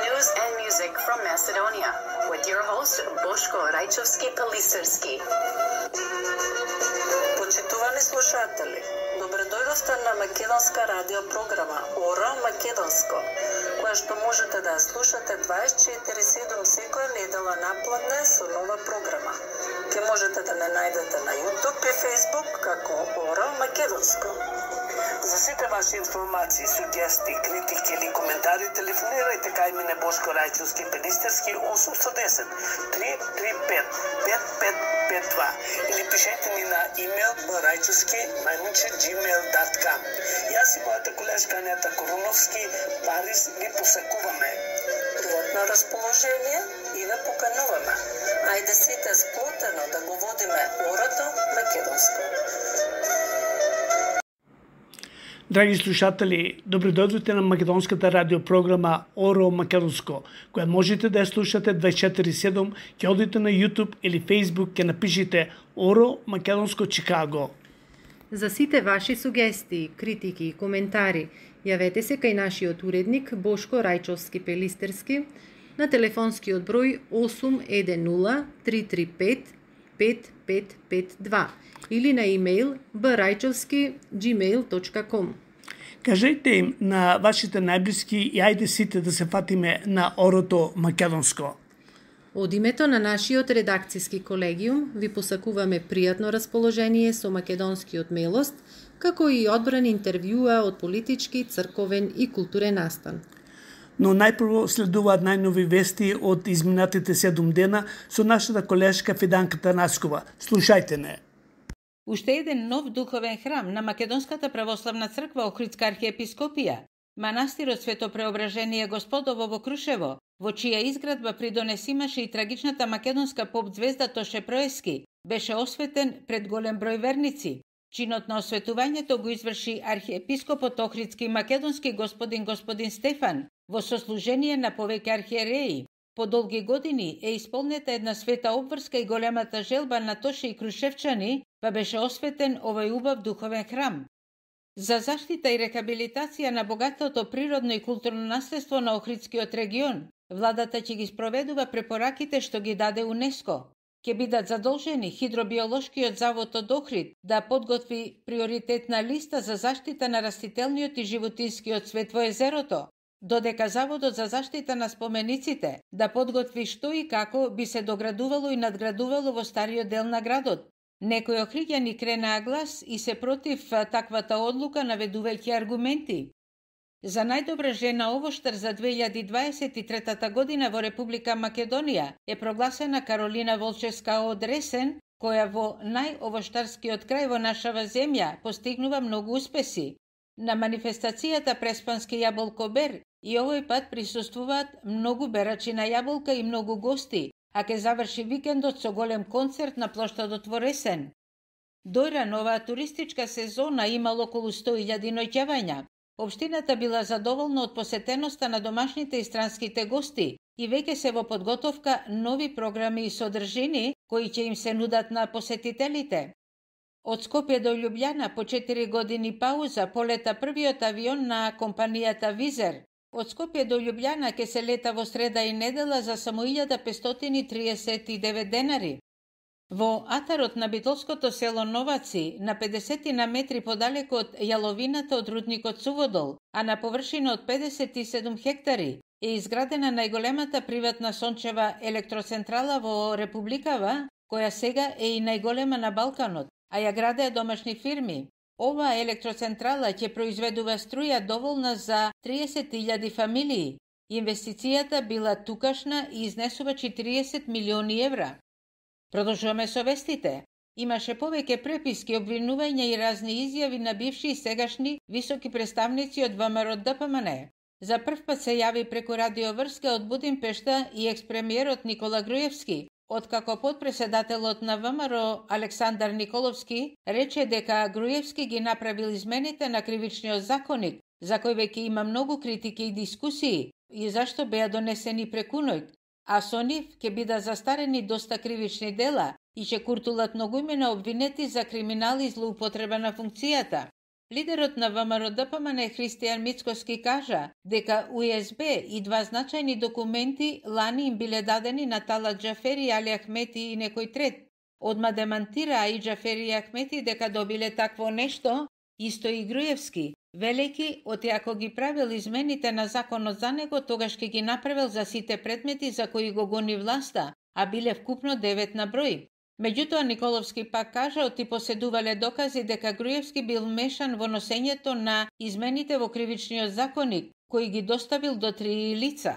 news and music from Macedonia with your host Boško Rajčovski-Pelisterski. Почитувани слушатели, добредојдовте на македонска радио програма ОРО Македонско, која што можете да ја слушате 24/7 секоја недела напладне со нова програма. Ке можете да не најдете на YouTube и Facebook како ОРО Македонско. За сите ваши информации, сугести, критики или коментари, телефонирајте кај мене Бошко Рајчовски-Пелистерски 810 335 5552 или пишете ми на имейл baraјчовски@gmail.com. Јас и мојата колешка Анета Коруновски Париз ви посакуваме. Пријатно расположение и ве покануваме. Ајде сите сплотено да го водиме орото македонско. Драги слушатели, добредојдовте на македонската радиопрограма ОРО Македонско, која можете да ја слушате 24/7, ќе одите на YouTube или Facebook, ќе напишите ОРО Македонско Чикаго. За сите ваши сугестии, критики и коментари, јавете се кај нашиот уредник Бошко Рајчовски-Пелистерски на телефонскиот број 810 335 5552 или на имейл baraјчовски@gmail.com. Кажете им на вашите најблиски и ајде сите да се фатиме на орото македонско. Од името на нашиот редакцијски колегиум ви посакуваме пријатно расположение со македонскиот милост, како и одбран интервјуа од политички, црковен и културен настан. Но најпрво следуваат најнови вести од изминатите 7 дена со нашата колешка Фиданка Танаскова. Слушајте не. Уште еден нов духовен храм на Македонската православна црква Охридска архиепископија, манастирот Свето Преображение Господово во Крушево, во чија изградба придонес имаше и трагичната македонска поп звезда Тоше Проески, беше осветен пред голем број верници. Чинот на осветувањето го изврши архиепископот Охридски македонски господин Стефан во сослужение на повеќе архиереи. По долги години е исполнета една света обврска и големата желба на Тоше и крушевчани, па беше осветен овој убав духовен храм. За заштита и рехабилитација на богатото природно и културно наследство на Охридскиот регион, владата ќе ги спроведува препораките што ги даде УНЕСКО. Ќе бидат задолжени Хидробиолошкиот завод од Охрид да подготви приоритетна листа за заштита на растителниот и животинскиот свет во езерото, додека Заводот за заштита на спомениците да подготви што и како би се доградувало и надградувало во стариот дел на градот. Некои охриѓани кренаа глас и се против таквата одлука, наведувајќи аргументи. За најдобра жена овоштар за 2023 година во Република Македонија е прогласена Каролина Волчевска од Ресен, која во најовоштарскиот крај во нашава земја постигнува многу успеси. На манифестацијата Преспански јаболкобер и овој пат присуствуваат многу берачи на јаболка и многу гости, а ке заврши викендот со голем концерт на плоштадот во Ресен. Дојра новаа туристичка сезона имало околу 100.000 ноќавања. Општината била задоволна од посетеноста на домашните и странските гости и веќе се во подготовка нови програми и содржини кои ќе им се нудат на посетителите. Од Скопје до Љубљана по 4 години пауза полета првиот авион на компанијата Визер. Од Скопје до Љубљана ќе се лета во среда и недела за само 1539 денари. Во атарот на битолското село Новаци, на 50 на метри подалеку од јаловината од рудникот Суводол, а на површина од 57 хектари, е изградена најголемата приватна сончева електроцентрала во Републикава, која сега е и најголема на Балканот, а ја градеа домашни фирми. Оваа електроцентрала ќе произведува струја доволна за 30.000 фамилии. Инвестицијата била тукашна и изнесува 40 милиони евра. Продолжуваме со вестите. Имаше повеќе преписки, обвинувања и разни изјави на бивши и сегашни високи представници од ВМРО ДПМН. За прв пат се јави преку радиоврска од Будимпешта и експремиерот Никола Груевски, откако подпредседателот на ВМРО Александар Николовски рече дека Груевски ги направил измените на кривичниот законник, за кој веќе има многу критики и дискусии, и зашто беа донесени преку ноќ, а со нив ќе бидат застарени доста кривични дела и ќе куртулат многу имена обвинети за криминал и злоупотреба на функцијата. Лидерот на ВМРО-ДПМН Христијан Мицкоски кажа дека УСБ и два значајни документи лани им биле дадени на Талат Џафери, Али Ахмети и некој трет. Одма демантира и Џафери и Ахмети дека добиле такво нешто, исто и Груевски, велејќи оти ако ги правил измените на законот за него, тогаш ќе ги направил за сите предмети за кои го гони власта, а биле вкупно 9 на број. Меѓутоа, Николовски пак кажа оти поседувале докази дека Груевски бил мешан во носењето на измените во кривичниот законник, кои ги доставил до 3 лица.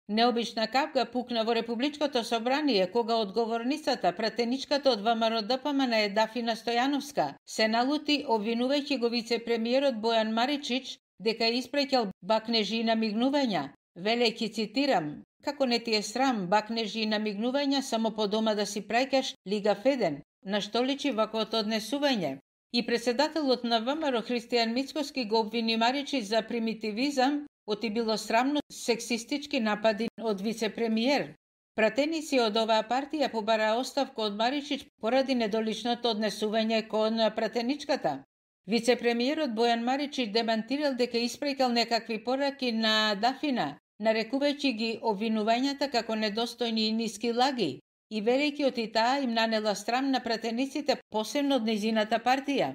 Необична капка пукна во Републичкото собрание кога одговорницата, пратеничката од ВМРО-ДПМН Дафина Стојановска, се налути обвинувајќи го вице-премиерот Бојан Маричич дека испреќал бакнежи и намигнувања, велејќи, цитирам: "Како не ти е срам, бакнежи и намигнувања само по дома да си праќаш Лига Феден, на што личи ваквото однесување?" И председателот на ВМРО Христијан Мицкоски го обвини Маричич за примитивизам, оти било срамно сексистички напади од вице-премиер. Пратеници од оваа партија побара оставка од Маричич поради недоличното однесување кон пратеничката. Вице-премиерот Бојан Маричич демантирал дека испреќал некакви пораки на Дафина, нарекувајќи ги обвинувањата како недостојни и ниски лаги, и велејќи оти таа им нанела срам на пратениците, посебно од нејзината партија.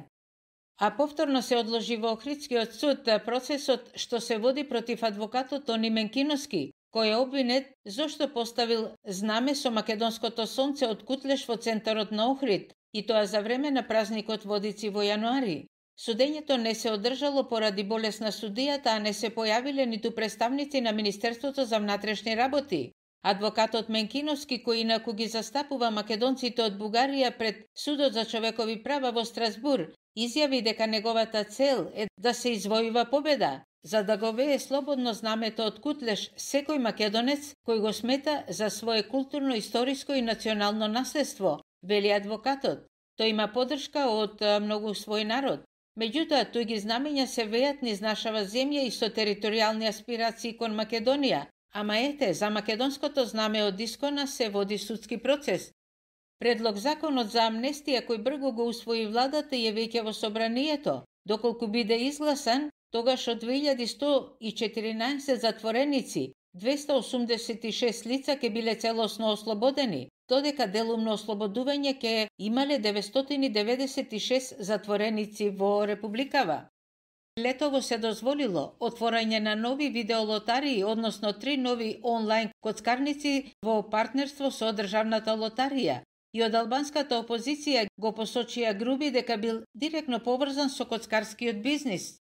А повторно се одложи во Охридскиот суд процесот што се води против адвокатот Тони Менкиновски, кој е обвинет зошто поставил знаме со македонското сонце од Кутлеш во центарот на Охрид, и тоа за време на празникот Водици во јануари. Судењето не се одржало поради болест на судијата, а не се појавиле ниту представници на Министерството за внатрешни работи. Адвокатот Менкиновски, кој инаку ги застапува македонците од Бугарија пред Судот за човекови права во Страсбур, изјави дека неговата цел е да се извојува победа, за да го вее слободно знамето од Кутлеш секој македонец кој го смета за свое културно, историско и национално наследство, вели адвокатот. Тој има поддршка од многу свој народ. Меѓутоа, тој ги знамења се веат низ нашава земја и со територијални аспирации кон Македонија, ама ете, за македонското знаме од Искона се води судски процес. Предлог законот за амнестија кој брзо го усвои владата е веќе во собранието. Доколку биде изгласан, тогаш од 2114 затвореници, 286 лица ќе биле целосно ослободени, додека делумно ослободување ќе имале 996 затвореници во Републикава. Летово се дозволило отворање на нови видеолотарии, односно 3 нови онлайн коцкарници во партнерство со државната лотарија. И од албанската опозиција го посочија Груби дека бил директно поврзан со коцкарскиот бизнис.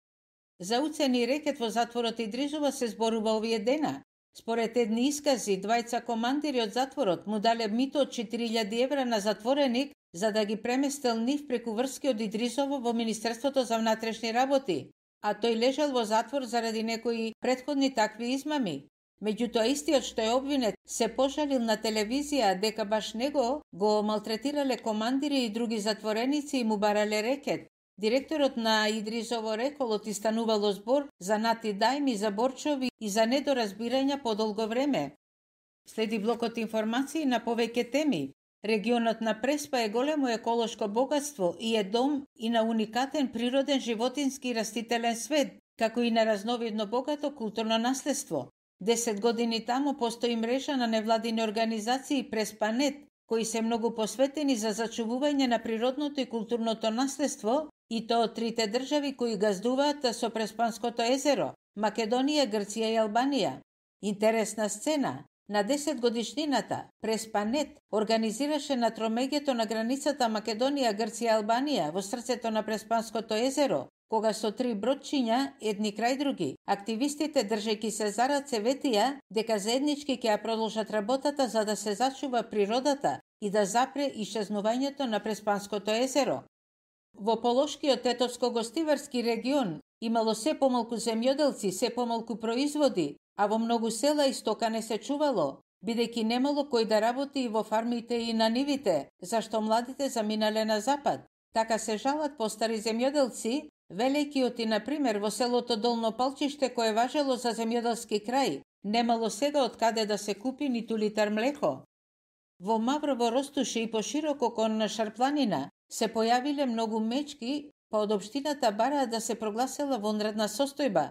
За уцени рекет во затворот Идризова се зборува овие дена. Според едни искази, двајца командири од затворот му дале мито од 4000 евра на затвореник за да ги преместел нив преку врски од Идризово во Министерството за внатрешни работи, а тој лежал во затвор заради некои претходни такви измами. Меѓутоа, истиот што е обвинет се пожалил на телевизија дека баш него го малтретирале командири и други затвореници и му барале рекет. Директорот на Идризово рекол отистанувало збор за нати дајми, за борчови и за недоразбирања подолго време. Следи блокот информации на повеќе теми. Регионот на Преспа е големо еколошко богатство и е дом и на уникатен природен животински и растителен свет, како и на разновидно богато културно наследство. 10 години таму постои мрежа на невладини организации Преспанет, кои се многу посветени за зачувување на природното и културното наследство, и тоа од трите држави кои газдуваат со Преспанското езеро – Македонија, Грција и Албанија. Интересна сцена. На 10 годишнината Преспанет организираше на тромеѓето на границата Македонија, Грција и Албанија во срцето на Преспанското езеро, кога со 3 бродчиња, едни крај други, активистите држејќи се за раце ветија дека заеднички ќе ја продолжат работата за да се зачува природата и да запре исчезнувањето на Преспанското езеро. Во Полошкиот етовско-гостиварски регион имало се помалку земјоделци, се помалку производи, а во многу села и стока не се чувало, бидејќи немало кој да работи во фармите и на нивите, зашто младите заминале на запад. Така се жалат постари земјоделци, велејќи оти, например, во селото Долно Палчиште, кое важело за земјоделски крај, немало сега од каде да се купи ниту литар млеко. Во Маврово Ростуше и пошироко кон Шарпланина се појавиле многу мечки па од општината бараа да се прогласела вонредна состојба.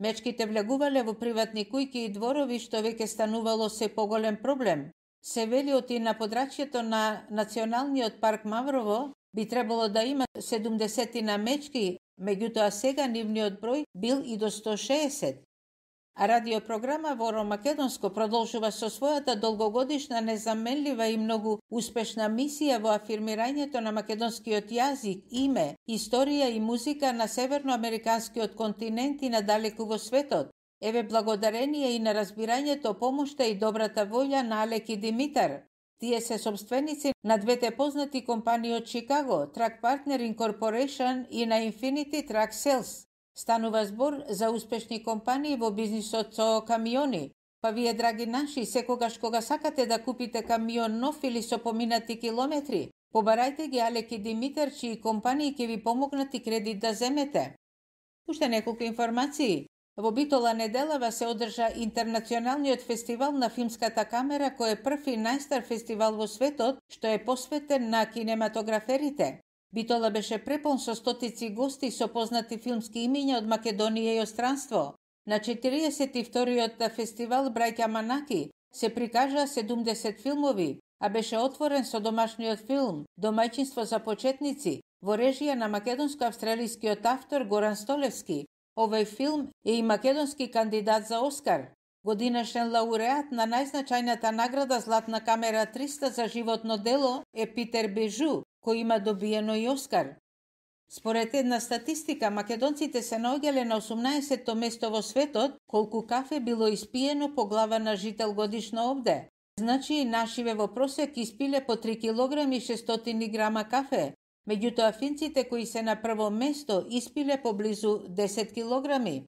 Мечките влегувале во приватни кујки и дворови, што веќе станувало се поголем проблем. Се вели оти на подрачјето на Националниот парк Маврово би требало да има 70 мечки, меѓутоа сега нивниот број бил и до 160. А радиопрограма во Оро Македонско продолжува со својата долгогодишна, незаменлива и многу успешна мисија во афирмирањето на македонскиот јазик, име, историја и музика на северноамериканскиот континент и надалеку во светот. Еве благодарение и на разбирањето, помошта и добрата волја на Алек и Димитар. Тие се собственици на двете познати компании од Чикаго, Track Partner Incorporation и на Infinity Track Sales. Станува збор за успешни компании во бизнисот со камиони. Па вие, драги наши, секогаш кога сакате да купите камион нов или со поминати километри, побарајте ги Алек и Димитар, чии компании ќе ви помогнат и кредит да земете. Уште неколку информации. Во Битола неделава се одржа Интернационалниот фестивал на филмската камера, кој е прв и најстар фестивал во светот, што е посветен на кинематограферите. Битола беше препон со стотици гости со познати филмски имиња од Македонија и остранство. На 42-тиот фестивал Браќа Манаки се прикажаа 70 филмови, а беше отворен со домашниот филм Домаќинство за почетници во режија на македонско-австралискиот автор Горан Столевски. Овој филм е и македонски кандидат за Оскар. Годинашен лауреат на најзначајната награда Златна камера 300 за животно дело е Питер Бежу, кој има добиено и Оскар. Според една статистика, македонците се наоѓале на 18-то место во светот колку кафе било испиено по глава на жител годишно овде. Значи, нашиве во просек испиле по 3 кг и 600 грама кафе. Меѓутоа, финците кои се на прво место испиле поблизу 10 килограми.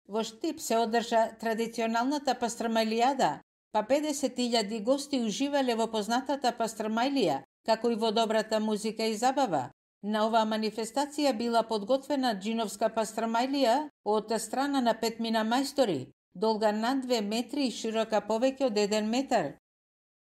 Во Штип се одржа традиционалната пастрмајлијада, па 50.000 гости уживале во познатата пастрмајлија, како и во добрата музика и забава. На оваа манифестација била подготвена джиновска пастрмајлија од страна на 5 мајстори, долга над 2 метри и широка повеќе од 1 метар.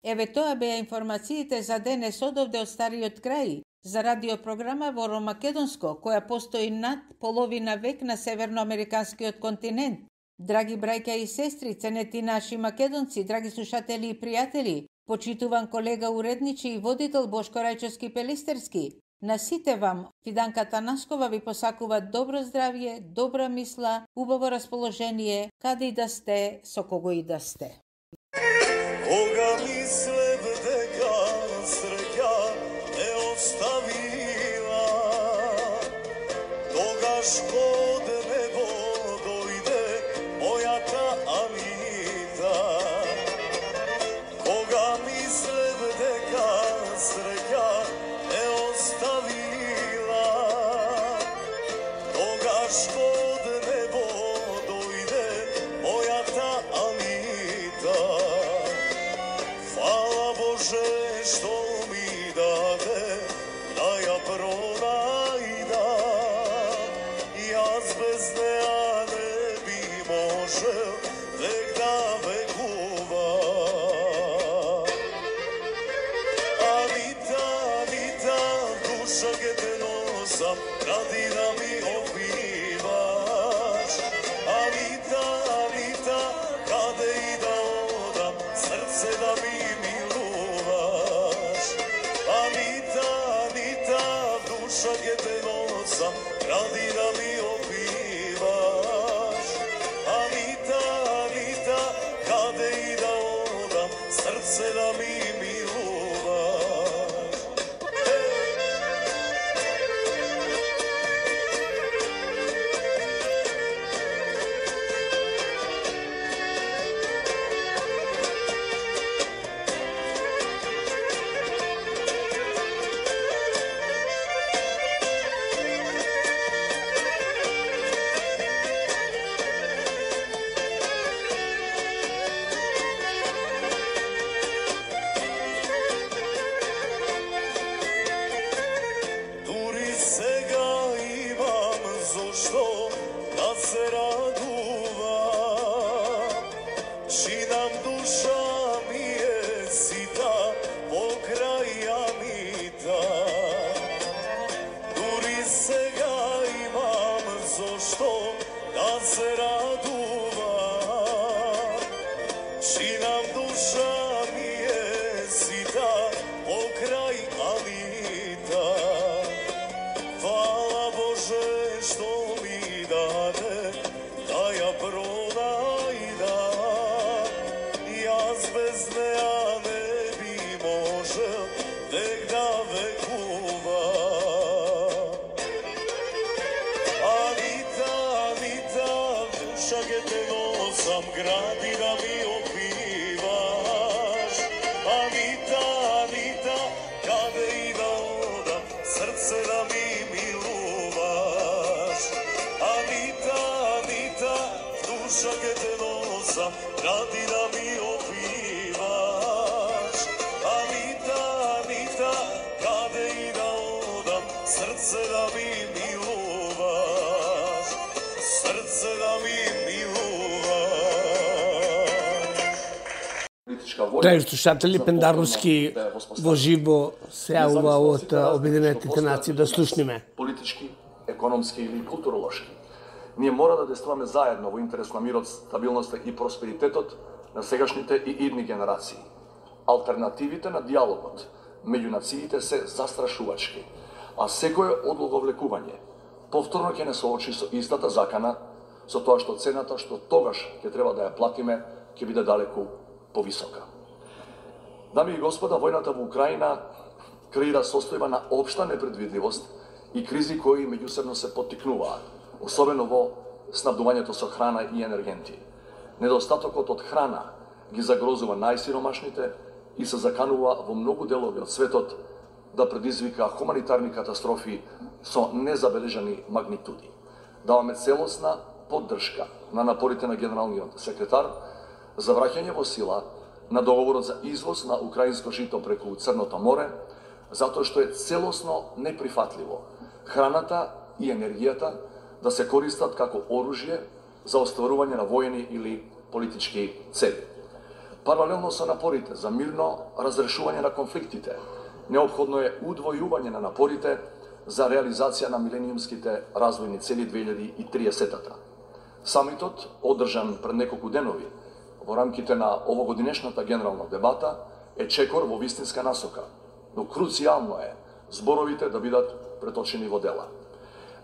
Еве тоа беа информациите за денес одовде од стариот крај, за радиопрограма во Оро Македонско, која постои над половина век на северноамериканскиот континент. Драги браќа и сестри, ценети наши македонци, драги слушатели и пријатели, почитуван колега уредничи и водител Бошко Рајчовски Пелистерски, на сите вам, Фиданка Наскова ви посакува добро здравје, добра мисла, убаво расположение, каде и да сте, со кого и да сте. Кога мислев дека среќа не оставила, тогаш код небо дојде мојата Анита. Кога мислев дека среќа не оставила, тогаш код небо дојде мојата Анита. Фала Боже што ми даде да ја пронајда, јас без неа не би можел век да векува. Анита, Анита, душа ке те носам, ради да ми обиваш. Анита, Анита, каде и да одам, срце да ми милуваш. Анита, Анита, душа ке те носам, ради да ми обиваш. Анита, Анита, каде и да одам, срце да ми милуваш. Дури сега имам зошто да се радувам, чинам душа ми е сита покрај Анита. Дури сега се радува, чи нам душа ми е сита покрај Анита. Фала Боже што ми даде да ја пронајда, јас без неа не би можел век да векува. Анита, Анита, душа ке те носам, гради да ми опиваш. Анита, Анита, каде и да одам, срце да ми милуваш. Анита, Анита, душа ке те носам, гради да ми опиваш. Анита, Анита, каде и да одам, срце да ми милуваш. Срце да ми милуваш. Драги слушатели, Пендаровски во живо се јавува од Обединетите нации да слушниме. Политички, економски или културолошки. Ние мора да действуваме заедно во интерес на мирот, стабилноста и просперитетот на сегашните и идни генерации. Алтернативите на диалогот меѓу нациите се застрашувачки, а секое одлоговлекување повторно ќе не соочи со истата закана, со тоа што цената што тогаш ќе треба да ја платиме ќе биде далеку повисока. Дами и господа, војната во Украина креира состојба на општа непредвидливост и кризи кои меѓусебно се поттикнуваат, особено во снабдувањето со храна и енергенти. Недостатокот од храна ги загрозува најсиромашните и се заканува во многу делови од светот да предизвика хуманитарни катастрофи со незабележани магнитуди. Даваме целосна поддршка на напорите на генералниот секретар за враќање во сила на договорот за извоз на украинско жито преку Црното море, затоа што е целосно неприфатливо храната и енергијата да се користат како оружје за остварување на воени или политички цели. Паралелно со напорите за мирно разрешување на конфликтите, неопходно е удвојување на напорите за реализација на милениумските развојни цели 2030-та. Самитот, одржан пред неколку денови во рамките на овогодинешната генерална дебата, е чекор во вистинска насока, но круцијално е зборовите да бидат преточени во дела.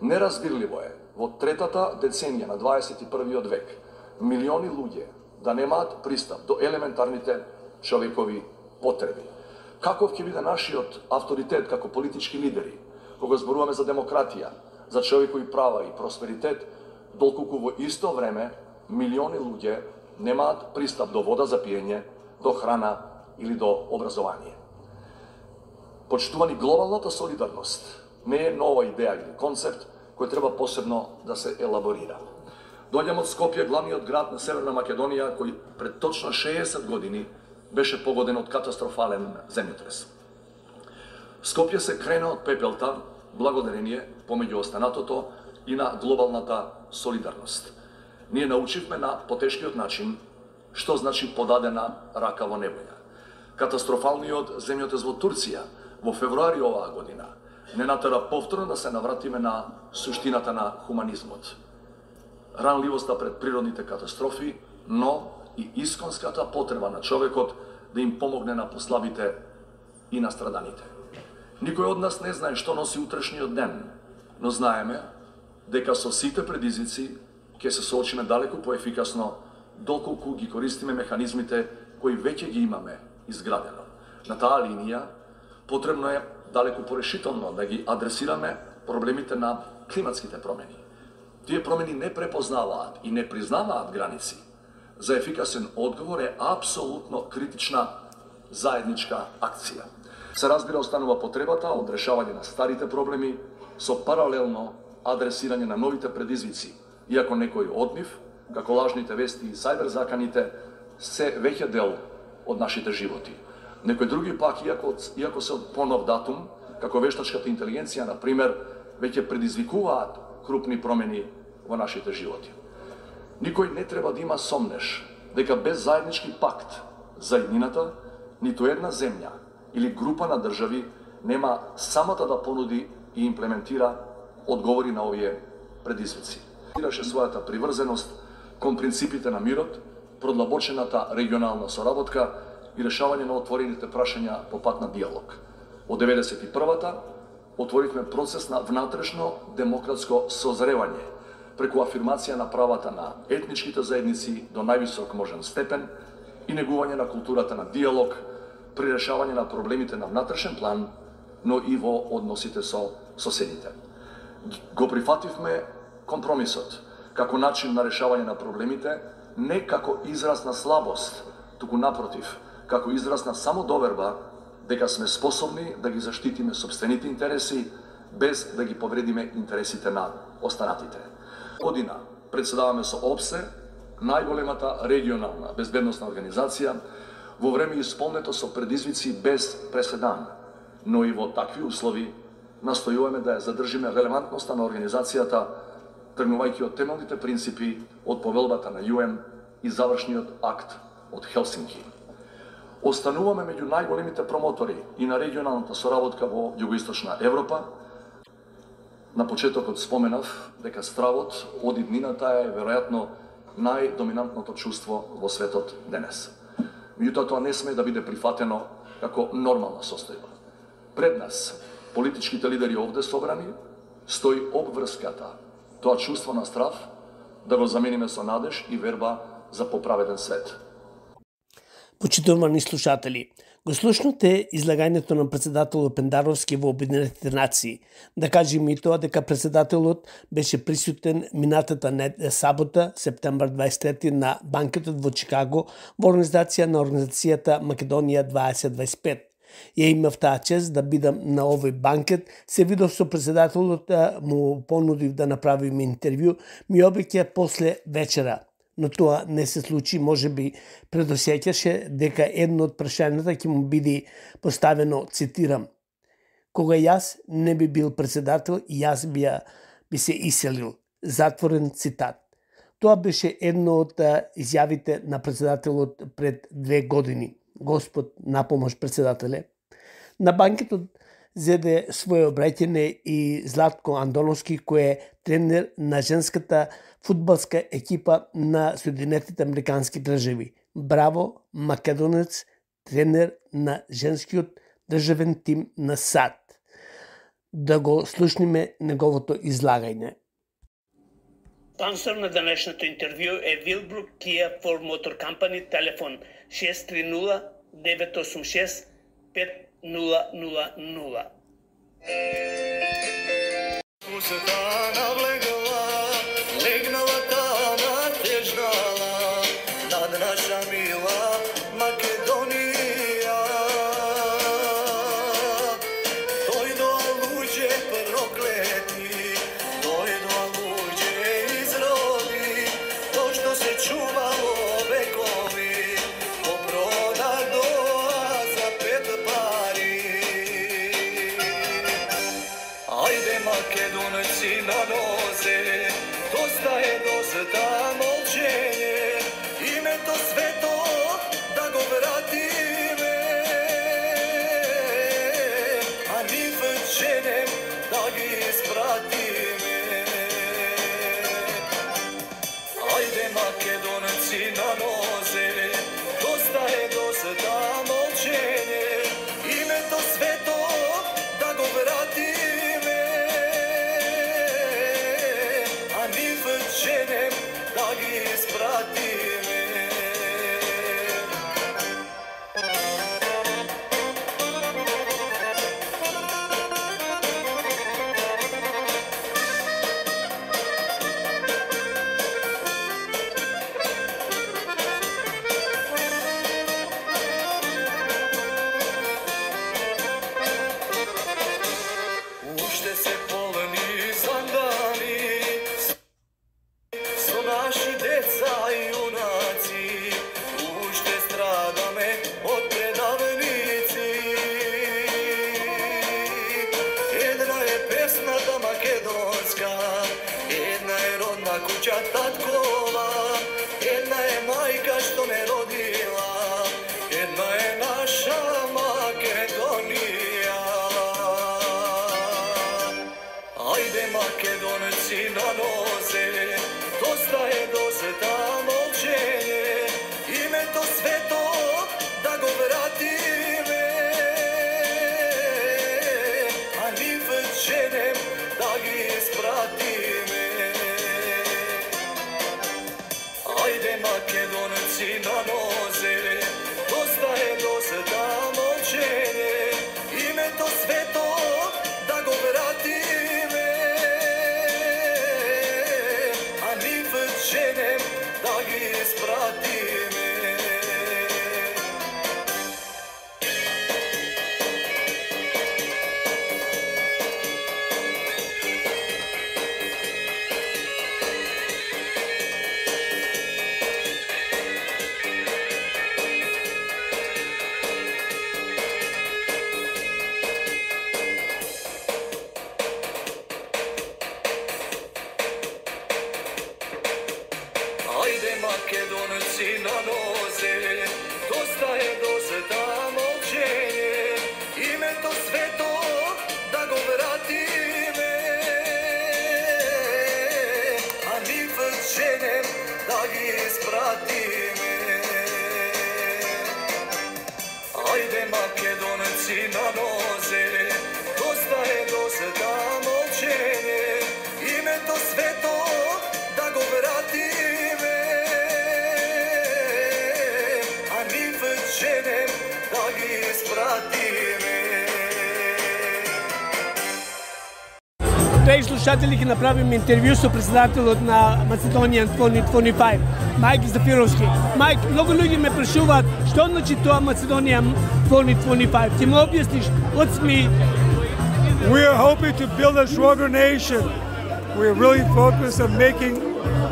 Неразбирливо е во третата деценија на 21. век милиони луѓе да немаат пристап до елементарните човекови потреби. Каков ќе биде нашиот авторитет како политички лидери, кога зборуваме за демократија, за човекови права и просперитет, доколку во исто време милиони луѓе немаат пристап до вода за пиење, до храна или до образование. Почитувани, глобалната солидарност не е нова идеја или концепт кој треба посебно да се елаборира. Доаѓам од Скопје, главниот град на Северна Македонија, кој пред точно 60 години беше погоден од катастрофален земјотрес. Скопје се крена од пепелта благодарение помеѓу останатото и на глобалната солидарност. Ние научивме на потешкиот начин што значи подадена рака во неволја. Катастрофалниот земјотрес во Турција во февруари оваа година не натера повторно да се навратиме на суштината на хуманизмот. Ранливоста пред природните катастрофи, но и исконската потреба на човекот да им помогне на послабите и на страданите. Никој од нас не знае што носи утрешниот ден, но знаеме дека со сите предизвици ќе се соочиме далеку поефикасно доколку ги користиме механизмите кои веќе ги имаме изградено. На таа линија потребно е далеку порешително да ги адресираме проблемите на климатските промени. Тие промени не препознаваат и не признаваат граници. За ефикасен одговор е апсолутно критична заедничка акција. Се разбира, останува потребата од решавање на старите проблеми со паралелно адресирање на новите предизвици, иако некои од нив, како лажните вести и сајбер заканите, се веќе дел од нашите животи. Некои други пак, иако се од понов датум, како вештачката интелигенција, например, веќе предизвикуваат крупни промени во нашите животи. Никој не треба да има сомнеш дека без заеднички пакт за иднината, ниту една земја или група на држави нема самата да понуди и имплементира одговори на овие предизвици. Ираше својата приврзеност кон принципите на мирот, продлабочената регионална соработка и решавање на отворените прашања по пат на диалог. Од 91-та отворивме процес на внатрешно демократско созревање преку афирмација на правата на етничките заедници до највисок можен степен и негување на културата на диалог при решавање на проблемите на внатрешен план, но и во односите со соседите. Го прифативме компромисот како начин на решавање на проблемите, не како израз на слабост, туку напротив, како израз на самодоверба дека сме способни да ги заштитиме сопствените интереси без да ги повредиме интересите на останатите. Година председаваме со ОПСЕ, најголемата регионална безбедносна организација, во време исполнето со предизвици без преседан, но и во такви услови настојуваме да ја задржиме релевантноста на организацијата, тргнувајќи од темелните принципи од повелбата на ЮН и завршниот акт од Хелсинки. Остануваме меѓу најголемите промотори и на регионалната соработка во Југоисточна Европа. На почетокот споменав дека стравот од иднината е веројатно најдоминантното чувство во светот денес. Меѓутоа тоа не сме да биде прифатено како нормална состојба. Пред нас, политичките лидери овде собрани, стои обврската, тоа чувство на страв, да го замениме со надеж и верба за поправеден свет. Почитувани слушатели, го слушнате излагањето на председателот Пендаровски во Обединетите нации. Да кажем и тоа дека председателот беше присутен минатата сабота, септембар 23 на банкетот во Чикаго во организација на организацијата Македонија 2025. Ја имав таа чест да бидам на овој банкет, се видов со председателот, му понудив да направиме интервју, ми обеќа после вечера. Но тоа не се случи, може би предосеќаше дека едно од прашањата ќе му биде поставено, цитирам: "Кога јас не би бил председател, јас би се иселил." Затворен цитат. Тоа беше едно од изјавите на председателот пред 2 години. Господ напомош, председателе. На банкетот зеде своје обраќање и Златко Андоновски, кој е тренер на женската фудбалска екипа на Соединетите Американски држави. Браво, македонец, тренер на женскиот државен тим на САД. Да го слушниме неговото излагање. Спонсор на денешното интервју е Вилбрук Kia for Motor Company, телефон 630 986 5000. Легнала тама тежнала над наша мила Македонија. Дојдоа луѓе проклети, дојдоа луѓе изроби, тоа што се чувало векови, попродадоа за 5 пари. Ајде македонци на нозе, доста е доста молчење, името свето да го вратиме, а нив женем да ги испратиме. Ајде македонци на нозе, доста е доста молчење, името свето да го вратиме, а нив женем да ги испратиме. Уште се полни зандани со наши деца и јунаци, уште страдаме од предавници. Една е песната македонска, една е родна куќа таткова, една е мајка што не родила, една е наша Македонија. Ajde Makedonci na noze, dosta je doseta molčenje, ime to sveto da go vratime, a ni večerem da gi ispratime. Ajde Makedonci na noze, dosta je doseta molčenje, ime to sveto da go vratime, a ni večerem da gi ispratime. Ajde Makedonci na noze, dosta je doseta molčenje, ime to sveto da go vratime, a ni večerem da gi ispratime. Ajde Makedonci na noze, dosta je doseta molčenje, ime to sveto da go vratime, a ni večerem da gi ispratime. Драги слушатели, ќе направиме интервју со председателот на Macedonian 2025, Мајк Зафировски. Мајк, многу луѓе ме прашуваат што значи тоа Macedonian 2025. Ќе му објасниш, what's me? We are hoping to build a stronger nation. We are really focused on making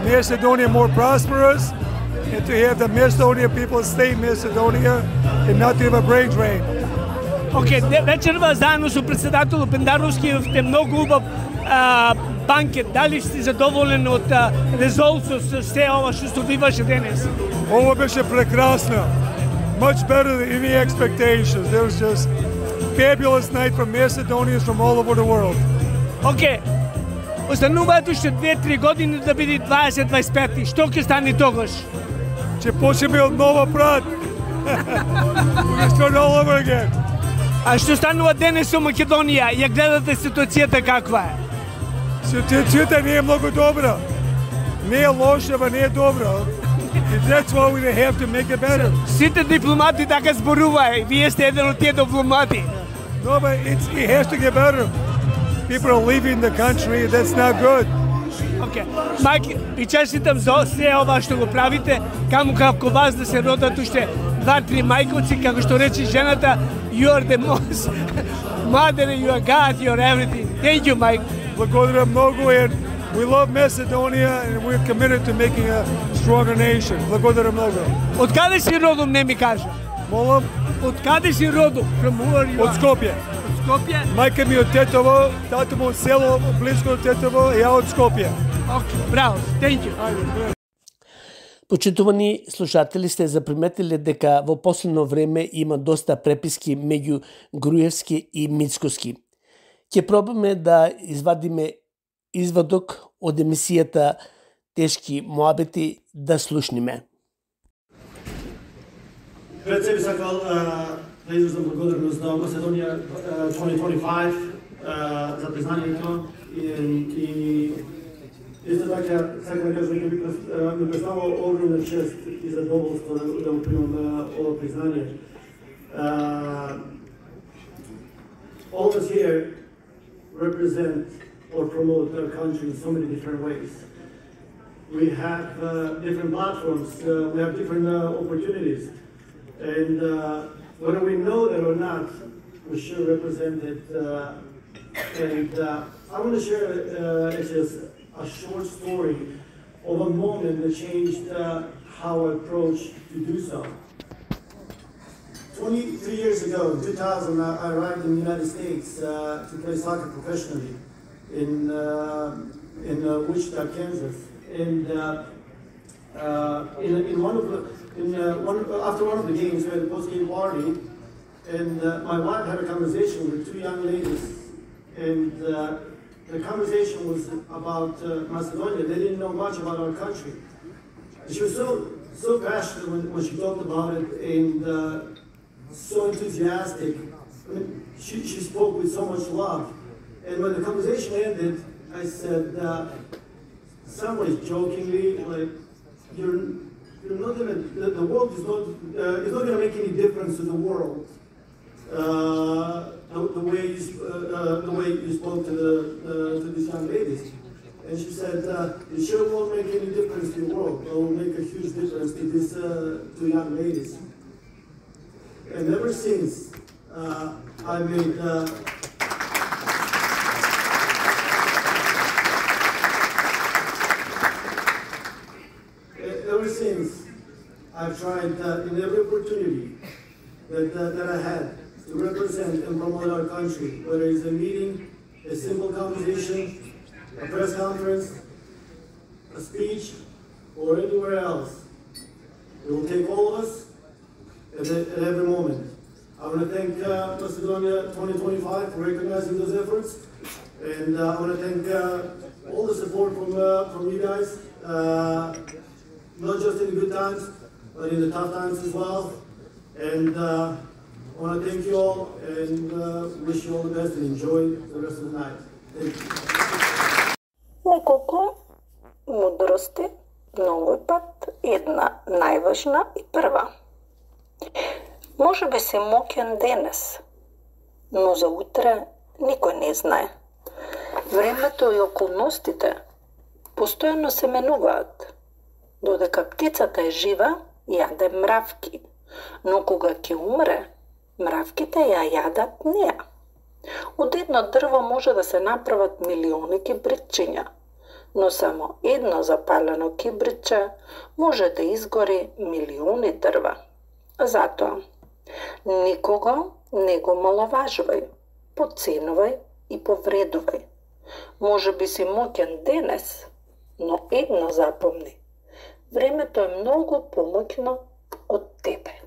Macedonia more prosperous and to have the Macedonian people stay in Macedonia and not to have a brain drain. Океј, вечерва заедно со председателот Пендаровски имавте многу убав банкет. Дали сте задоволен од резултатот со се ова што се биваше денес? Ovo беше прекрасно. Much better than any expectations. There was just fabulous night from Macedonians from all over the world. Океј, остануваат уште 2-3 години да биде 20-25. Што ќе стане тогаш? Ќе почнеме од нова брат. We can start all over again. А што станува денес со Македонија? Ја гледате ситуацијата каква е? Ситуацијата не е многу добра. Не е лоша, ама не е добра. And that's why we have to make it better. Сите дипломати така зборуваат. Вие сте еден од тие дипломати. No, but it has to get better. People are leaving the country. That's not good. Океј. Мајк, ви честитам за се ова што го правите. Каму како вас да се родат уште 2-3 мајковци, како што рече жената, you are the most mother, you are God, you are everything. Thank you, Mike. Благодаря многу, and we love Macedonia and we're committed to making a stronger nation. Благодаря многу. Од каде си родом, не ми кажа? Молам? Од каде си родом? From where you are? Од Скопје. Од Скопје? Мајка ми од Тетово, тато му од село близко од Тетово, ја од Скопје. Океј, браво. Thank you. Почитувани слушатели, сте заприметиле дека во последно време има доста преписки меѓу Груевски и Мицкоски. Ќе пробаме да извадиме извадок од емисијата Тешки моабети да слушниме. Пред себе сакал да изразам благодарност на Macedonија 2025 за признанието и исто така сакам да кажам дека ми представува огромна чест и задоволство да го примам ова признание. All of us here represent or promote our country in so many different ways. We have different platforms, we have different opportunities, and whether we know that or not, we should represent it. I want to share just a short story of a moment that changed how I approach to do so. 23 years ago, in 2000, I arrived in the United States to play soccer professionally in Wichita, Kansas. And after one of the games, we had a post-game party, and my wife had a conversation with two young ladies, and the conversation was about Macedonia. They didn't know much about our country. And she was so passionate when she talked about it, and so enthusiastic. I mean, she spoke with so much love. And when the conversation ended, I said, somewhat jokingly, like, you're not gonna, the world is not gonna make any difference to the world. The way you spoke to these young ladies. And she said, it sure won't make any difference to the world. It will make a huge difference to these two young ladies. And ever since, I made ever since, I've tried in every opportunity that I had to represent and promote our country, whether it's a meeting, a simple conversation, a press conference, a speech, or anywhere else. It will take all of us at every moment. I want to thank Macedonia 2025 for recognizing those efforts, and I want to thank all the support from you guys, not just in the good times, but in the tough times as well. And I want to thank you all and wish you all the best and enjoy the rest of the night. Thank you. Неколку мудрости, многој пат една најважна и прва. Може би си моќен денес, но за утре никој не знае. Времето и околностите постојано се менуваат. Додека птицата е жива, јаде мравки, но кога ќе умре, мравките ја јадат неа. Од едно дрво може да се направат милиони кибритчиња, но само едно запалено кибритче може да изгори милиони дрва. Затоа, никого не го маловажувај, подценувај и повредувај. Може би си моќен денес, но едно запомни. Времето е многу помоќно од тебе.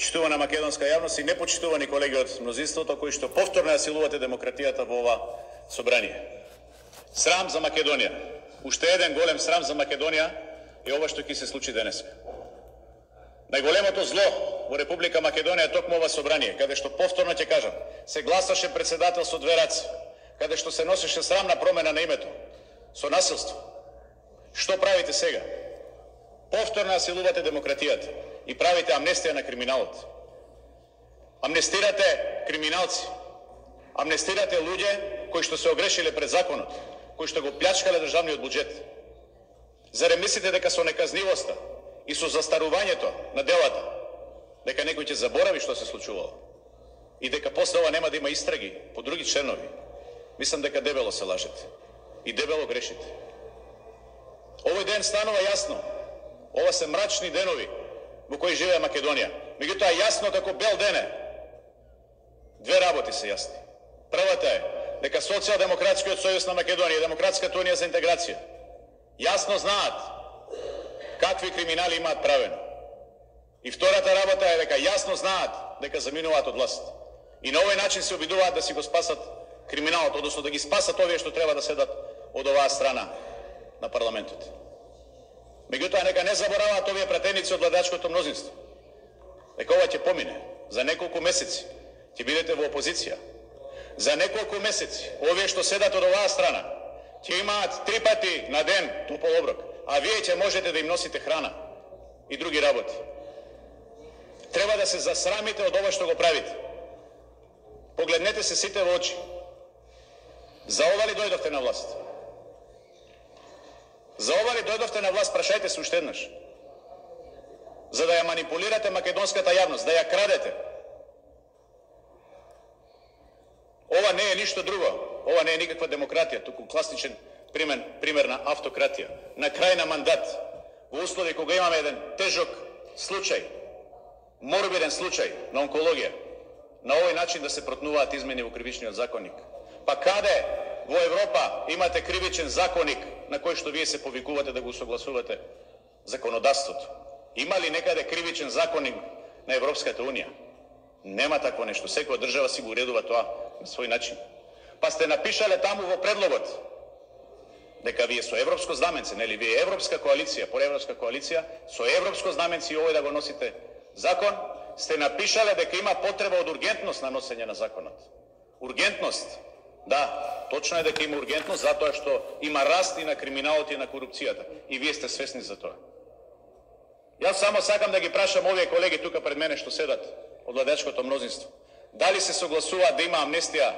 почитувана македонска јавност и непочитувани колеги од мнозинството кои што повторно ја силувате демократијата во ова собрание. Срам за Македонија. Уште еден голем срам за Македонија е ова што ќе се случи денес. Најголемото зло во Република Македонија е токму ова собрание, каде што повторно ќе кажам, се гласаше председател со две раце, каде што се носеше срамна промена на името, со насилство. Што правите сега? Повторно насилувате демократијата и правите амнестија на криминалот. Амнестирате криминалци. Амнестирате луѓе кои што се огрешиле пред законот, кои што го плячкале државниот буџет. Зарем мислите дека со неказнивоста и со застарувањето на делата, дека некој ќе заборави што се случувало и дека после ова нема да има истраги по други членови? Мислам дека дебело се лажете и дебело грешите. Овој ден станува јасно. Ова се мрачни денови во кои живее Македонија. Меѓутоа јасно како бел ден е. Две работи се јасни. Првата е дека Социјалдемократскиот сојуз на Македонија и Демократската унија за интеграција јасно знаат какви криминали имаат правено. И втората работа е дека јасно знаат дека заминуваат од власт. И на овој начин се обидуваат да си го спасат криминалот, односно да ги спасат овие што треба да седат од оваа страна на парламентот. Меѓутоа нека не забораваат овие пратеници од владачкото мнозинство. Дека ова ќе помине. За неколку месеци ќе бидете во опозиција. За неколку месеци овие што седат од оваа страна ќе имаат 3 пати на ден топол оброк, а вие ќе можете да им носите храна и други работи. Треба да се засрамите од ова што го правите. Погледнете се сите во очи. За ова ли дојдовте на власт? За ова ли дојдовте на власт, прашајте се уште еднаш. За да ја манипулирате македонската јавност, да ја крадете. Ова не е ништо друго. Ова не е никаква демократија, туку класичен пример на автократија. На крај на мандат, во услови кога имаме еден тежок случај, морбиден случај на онкологија, на овој начин да се протнуваат измени во кривичниот законник. Па каде во Европа имате кривичен законник на кој што вие се повикувате да го согласувате законодавството? Има ли некаде кривичен законник на Европската унија? Нема такво нешто. Секоја држава си го уредува тоа на свој начин. Па сте напишале таму во предлогот дека вие со европско знаменце, нели вие европска коалиција, проевропска коалиција, со европско знаменце и овој да го носите закон, сте напишале дека има потреба од ургентност на носење на законот. Ургентност. Да, точно е дека има ургентност затоа што има раст и на криминалот и на корупцијата. И вие сте свесни за тоа. Јас само сакам да ги прашам овие колеги тука пред мене што седат од владачкото мнозинство. Дали се согласуваат да има амнестија,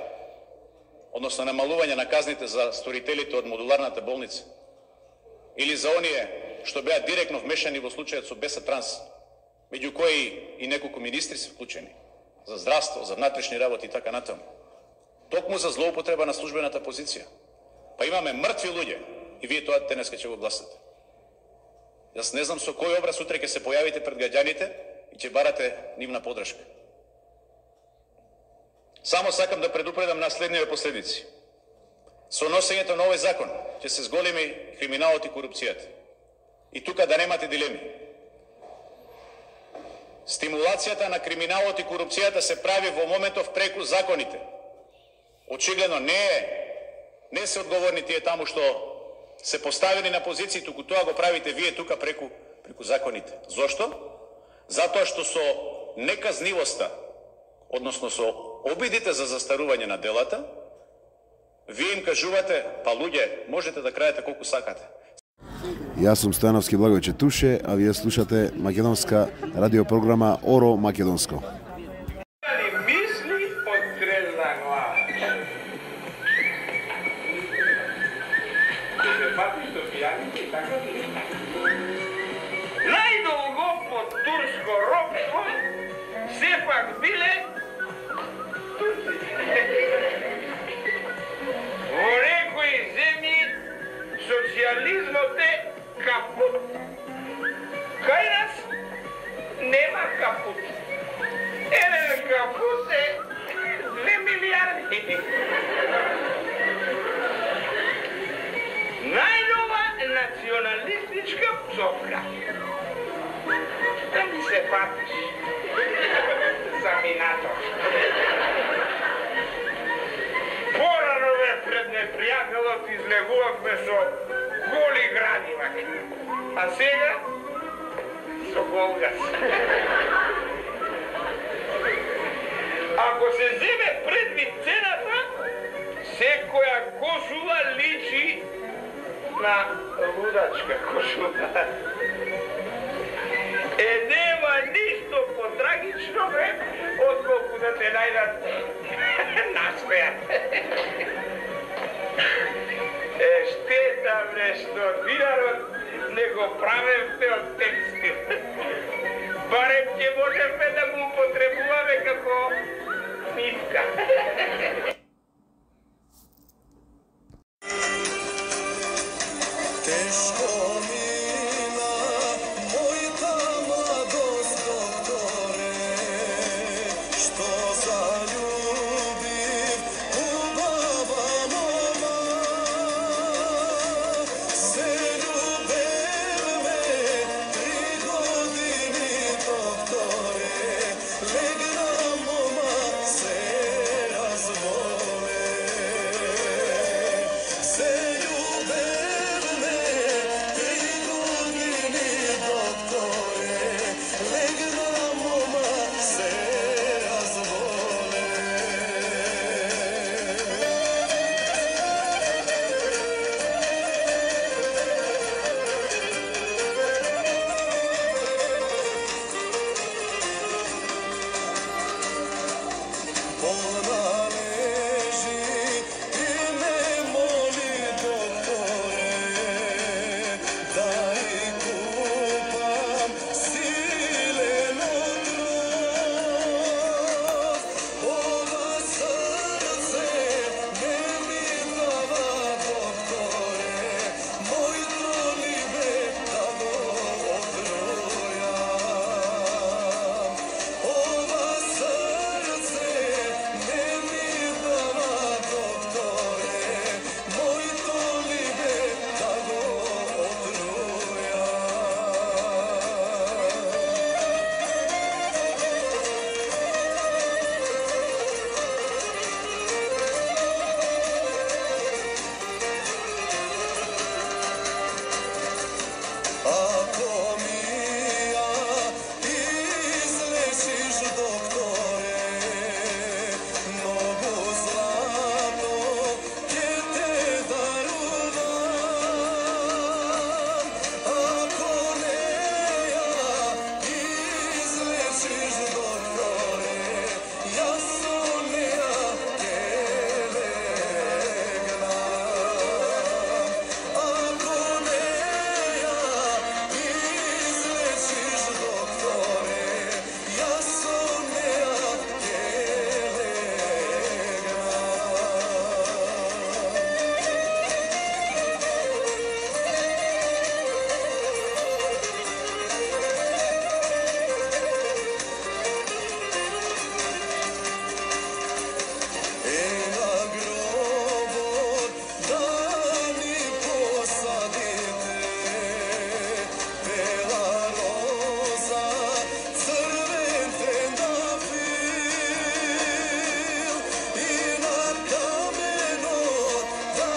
односно намалување на казните за сторителите од модуларната болница? Или за оние што беа директно вмешани во случајот со Беса Транс, меѓу кои и неколку министри се вклучени, за здравство, за внатрешни работи и така натаму. Токму за злоупотреба на службената позиција. Па имаме мртви луѓе и вие тоа денеска ќе го гласате. Јас не знам со кој образ утре ќе се појавите пред граѓаните и ќе барате нивна подршка. Само сакам да предупредам на следниве последици. Со носењето на овој закон ќе се зголеми криминалот и корупцијата. И тука да немате дилеми. Стимулацијата на криминалот и корупцијата се прави во моментов преку законите. Очигледно не се одговорни тие таму што се поставени на позиции, туку тоа го правите вие тука преку законите. Зошто? Затоа што со неказнивоста, односно со обидите за застарување на делата, вие им кажувате, па луѓе, можете да крајете колку сакате. Јас сум Стојановски Благојче Туше, а вие слушате македонска радиопрограма Оро Македонско. Најдолго под турско робство сепак биле во некои земји социјализмот е капут. Кај нас нема капут. Еден капут е 2 милиарди. Најнова националистичка псовка. Да ми се патиш. народ излегувавме со голи градива. А сега со голгас. Ако се земе предвид цената, секоја кошула личи на лудачка кошула. Нема ништо потрагично, отколку да те најдат насмејат. Штета, што динарот не го правевте од текстил. Барем ќе можеме да го употребуваме како нитка. Тешко мина мојта младост, докторе, што заљубив убава мома. Се љубевме 3 години, докторе, легна мома, се разболе. Се љубевме 3 години, докторе, легна мома, се разболе. Болна лежи и ме моли, докторе, да и купам силен отров. Ова срце не ми дава, докторе, мојто либе да го отрујам. Ова срце не ми дава, докторе, мојто либе да го Ако ми ја излечиш, докторе, многу злато ќе те дарувам. Ако не ја излечиш, докторе, јас со неа ќе легнам. Ако не ја излечиш, докторе, јас со неа ќе на гробот да ми посадите бела роза, црвен трендафил, и на каменот да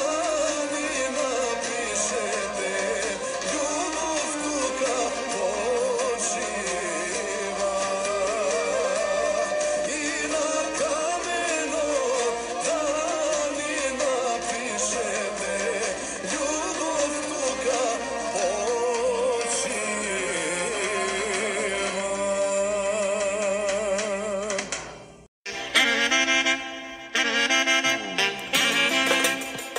ми напишете љубов тука почива. И на каменот да ми напишете љубов тука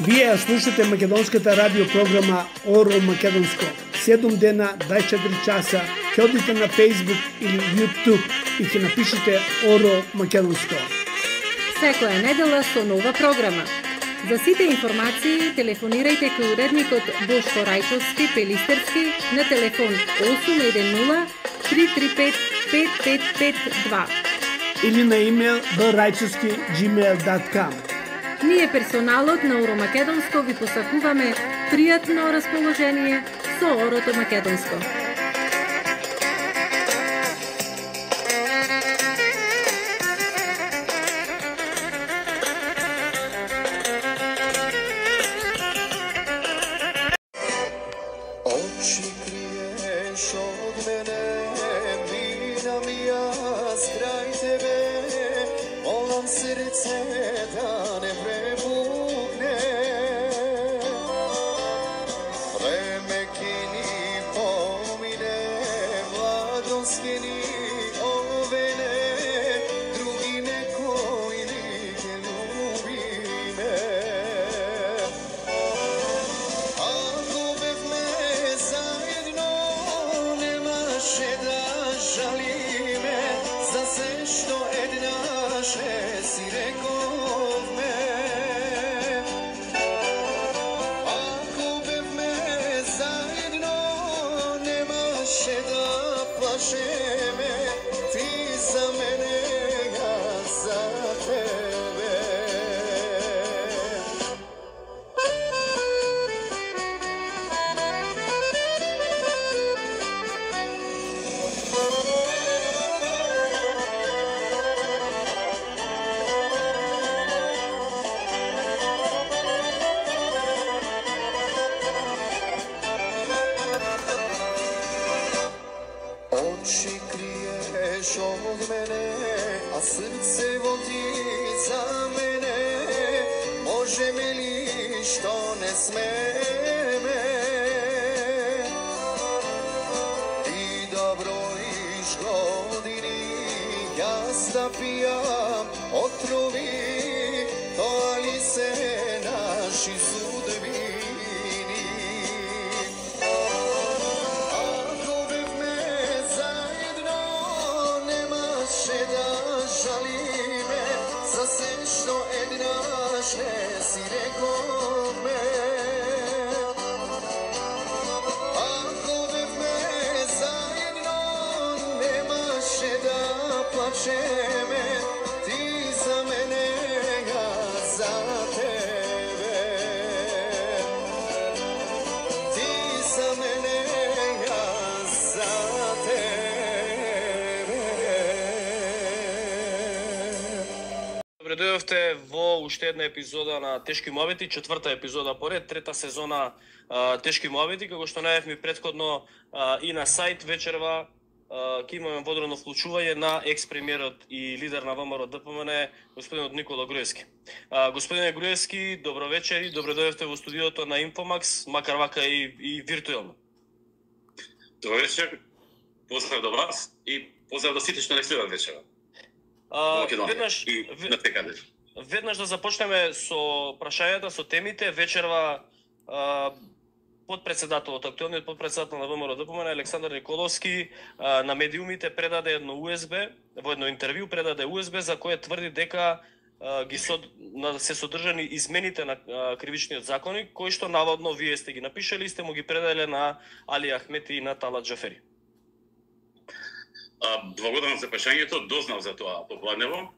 Вие ја слушате македонската радио програма Оро Македонско. 7 дена, 24 часа, ќе одите на Facebook или YouTube и ќе напишете Оро Македонско. Секоја недела со нова програма. За сите информации телефонирајте кај уредникот Бошко Рајчовски Пелистерски на телефон 810 335 5552 или на имейл braјчовski@gmail.com. Ние персоналот на Оро Македонско ви посакуваме пријатно расположение со Орото Македонско. час крај тебе, молам срце да не препукне. Време ки ни помине, младост ки ни овене, други некој ни ке любиме. Ако бевме заедно, немаше да жалиме за се што еднаше си рековме. Ако бевме заедно, немаше да плашеме, ти за мене, јас за тебе. Очи криеш од мене, а срце води за мене. Можеме ли што не смеме? Ти да броиш години, јас да пијам отрови, тоа ли се наши судбини? Ако бевме заедно, немаше да жалиме за се што еднаш не си рековме. Ако бевме заедно, немаше да плачеме, ти за мене, јас за тебе. Ти за мене, јас за тебе. Добре дојдовте во уште една епизода на Тешки моменти, четврта епизода поред, трета сезона Тешки моменти, како што најавивме претходно и на сајт вечерва ќе имаме водено вклучување на екс-премиерот и лидер на ВМРО ДПМН, господинот Никола Груевски. Господине Груевски, добро вечер и добро дојдовте во студиото на Инфомакс, макар вака и виртуелно. Добро вечер, поздрав до вас и поздрав до сите што не следат вечера. Веднаш да започнеме со прашањата, со темите. Вечерва подпредседателот, актуелниот подпредседател на ВМРО ДПМН Александар Николовски на медиумите предаде едно USB, во едно интервју предаде USB за кое тврди дека се содржани измените на кривичниот законник, кои што наводно вие сте ги напишали и сте му ги предале на Али Ахмети и на Талат Джафери. Благодарам за прашањето, дознав за тоа попладнево.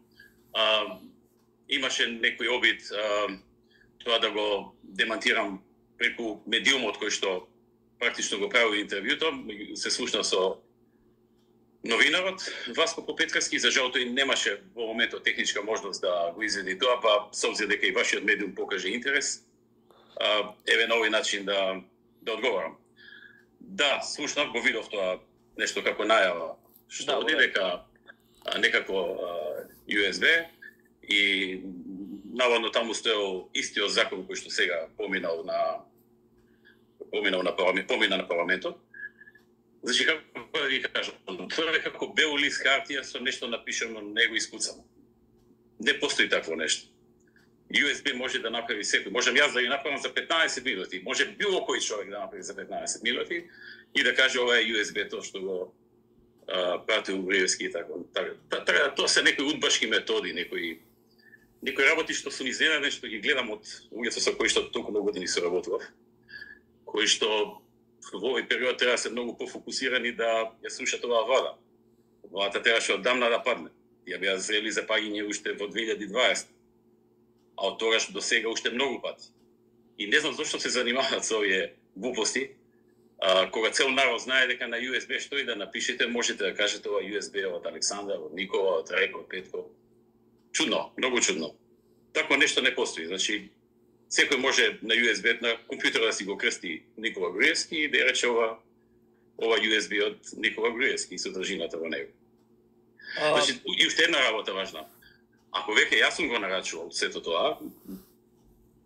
Имаше некој обид тоа да го демантирам преку медиумот кој што практично го прави интервјуто, се слушна со новинарот Васко Попетковски, за жал тој немаше во моментот техничка можност да го изведи тоа, па со обзир дека и вашиот медиум покаже интерес, еве на овој начин да одговорам. Да, слушнав, го видов тоа нешто како најава, што оди дека некако USB и наводно таму стоел истиот закон кој што сега помина на парламентот. Значи, како да ви кажам, тоа е како бел лист хартија со нешто напишано на него искуцано. Не постои такво нешто. USB може да направи секој. Можем јас да ги направам за 15 минути. Може било кој човек да направи за 15 минути и да каже ова е USB тоа што го пратил Груевски и така. Тоа се некои удбашки методи, некои работи што сум изненаден што ги гледам од луѓето со кои што толку многу години соработував, кои што во овој период треба да се многу пофокусирани да ја слушат оваа влада. Владата требаше одамна да падне. Ја беа зрели за паѓање уште во 2020, а од тогаш до сега уште многу пати. И не знам зошто се занимаваат со овие глупости, кога цел народ знае дека на USB што и да напишете, можете да кажете ова USB од Александар, од Никола, од Реко, од Петко. Чудно, многу чудно. Такво нешто не постои. Значи, секој може на USB, на компјутер да си го крсти Никола Груевски и да рече ова USB од Никола Груевски и содржината во него. Значи, и уште една работа важна. Ако веќе јас сум го нарачувал сето тоа,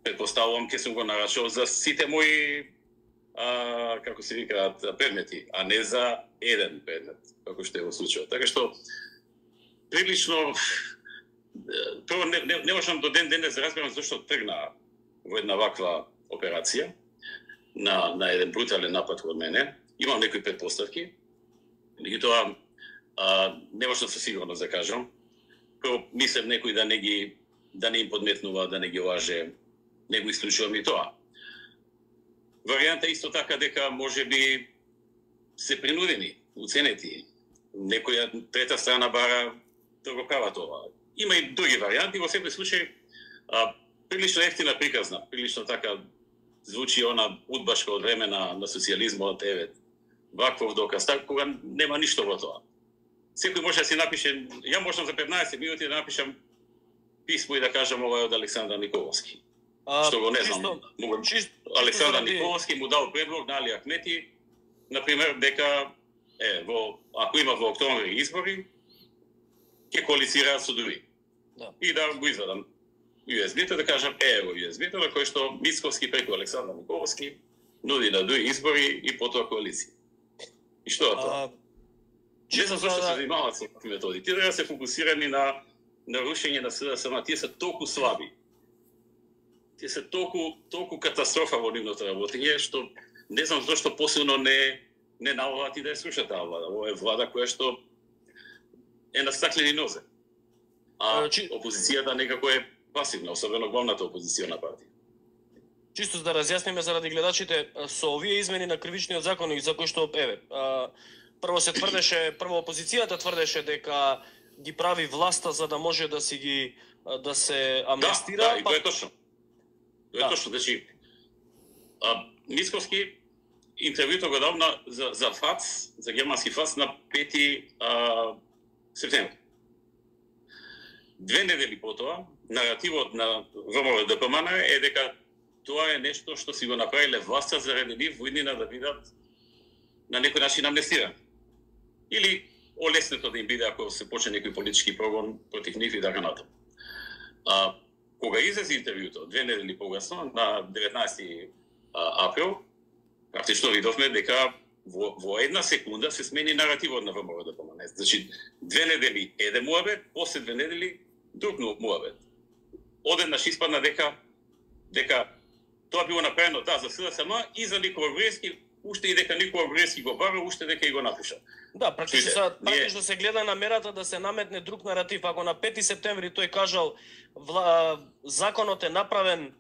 предпоставувам ке сум го нарачувал за сите мои како се викаат предмети, а не за еден предмет, како што е во случајот. Така што прилично прво не можам до ден денес да разберам зашто тргна во една ваква операција на еден брутален напад од мене. Имам некои предпоставки, меѓутоа не можам со сигурност да кажам. Прво мислам некој да не им подметнува, да не ги лаже, не го исклучувам и тоа. Варијанта исто така дека можеби се принудени, уценети, некоја трета страна бара да го права тоа. Има и други варијанти, во секој случај прилично ефтина приказна, прилично така звучи она удбашка од време на социјализмот, ваквов доказ, така кога нема ништо во тоа. Секој може да си напише, ја можам за 15 минути да напишам писмо и да кажам ова е од Александар Николовски. Што го не знам. Александар Николовски му дал предлог на Али Ахмети, например, дека ако има во октомври избори, ќе коалицираат со други. И да го извадам USB-то, да кажам, во USB-то, на кој што Мицковски преку Александар Николовски нуди на други избори и потоа коалиција. И што е тоа? Не знам зашто се занимаваат со такви методи. Тие да се фокусирани на рушење на СДСМ, тие се толку слаби. Тие се толку катастрофа во нивното работење, што не знам зашто посилно не налагаат и да ја слушаат таа влада. Ова е влада која што е на стаклени нозе. А опозицијата некако е пасивна, особено главната опозицијна партија. Чисто за да разјасниме заради гледачите, со овие измени на кривичниот законник за кој што прво се тврдеше, опозицијата тврдеше дека ги прави власта за да може да се амнестира. Да, и тоа е точно. Тоа е точно, значи Мицковски интервјуто го дал за ФАЦ, за германски ФАЦ на 5 септември. 2 недели потоа, наративот на ВМРО-ДПМН е дека тоа е нешто што си го направиле власта заради нив во иднина да бидат на некој начин амнестирани. Или олеснето да им биде ако се почне некој политички прогон против нив и така натаму. Кога излезе интервјуто 2 недели погасно, на 19 април, практично видовме дека во една секунда се смени наративот на ВМРО-ДПМН. Значи, 2 недели еден муабет, после 2 недели друг муабет. Одеднаш испадна дека тоа било направено за СДСМ и за Никола Груевски, уште и дека Никола Груевски го бара, уште дека и го напиша. Да, практично се гледа намерата да се наметне друг наратив. Ако на 5 септември тој кажал законот е направен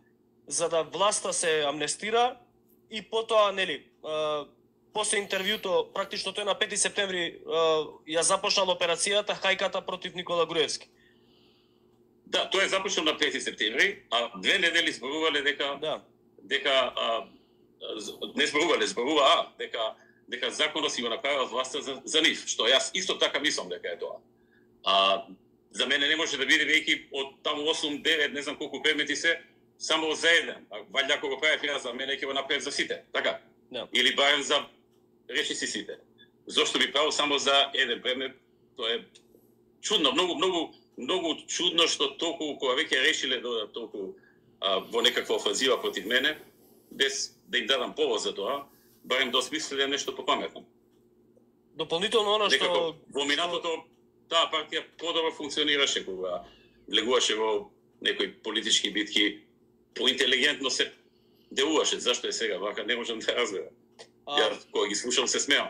за да власта се амнестира и потоа, после интервјуто, практично тој на 5 септември ја започнал операцијата хајката против Никола Груевски. Да, тоа е започнал на 5 септември, а 2 недели зборувале дека законот си го направил власта за нив, што јас исто така мислам дека е тоа. За мене не може да биде веќе од таму 8-9, не знам колку предмети се, само за еден. Валјда ако го правев јас, за мене ќе го направев за сите, така? Или барем за речиси сите. Зошто би правил само за еден предмет? Тоа е чудно, многу чудно што толку кога веќе решиле да толку во некаква офанзива против мене, без да им дадам повод за тоа, барем да осмислиле нешто попаметно. Дополнително оно што во минатото таа партија подобро функционираше кога влегуваше во некои политички битки, поинтелигентно се делуваше. Зашто е сега вака, не можам да разберам. Ја кога ги слушам се смеам.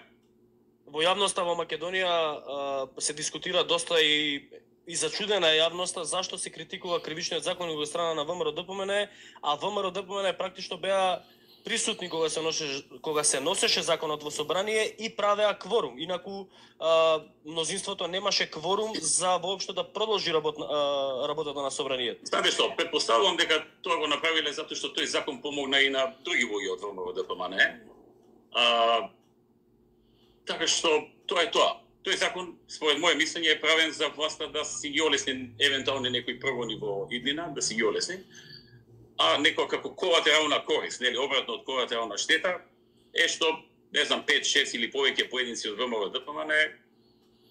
Во јавноста во Македонија се дискутира доста и зачудена е јавноста зашто се критикува кривичниот законник од страна на ВМРО-ДПМН, а ВМРО-ДПМН практично беа присутни кога се носеше законот во собрание и правеа кворум. Инаку мнозинството немаше кворум за воопшто да продолжи работата на собранието. Знаете што, претпоставувам дека тоа го направиле затоа што тој закон помогна и на други луѓе од ВМРО-ДПМН. Така што тоа е тоа. Тој закон, според моје мислење, е правен за власта да си ги олесни евентуални некои прогони во иднина, да си ги олесни, а некоја како колатерална корист, обратно од колатерална штета, е што, не знам, 5, 6 или повеќе поединци од ВМРО-ДПМН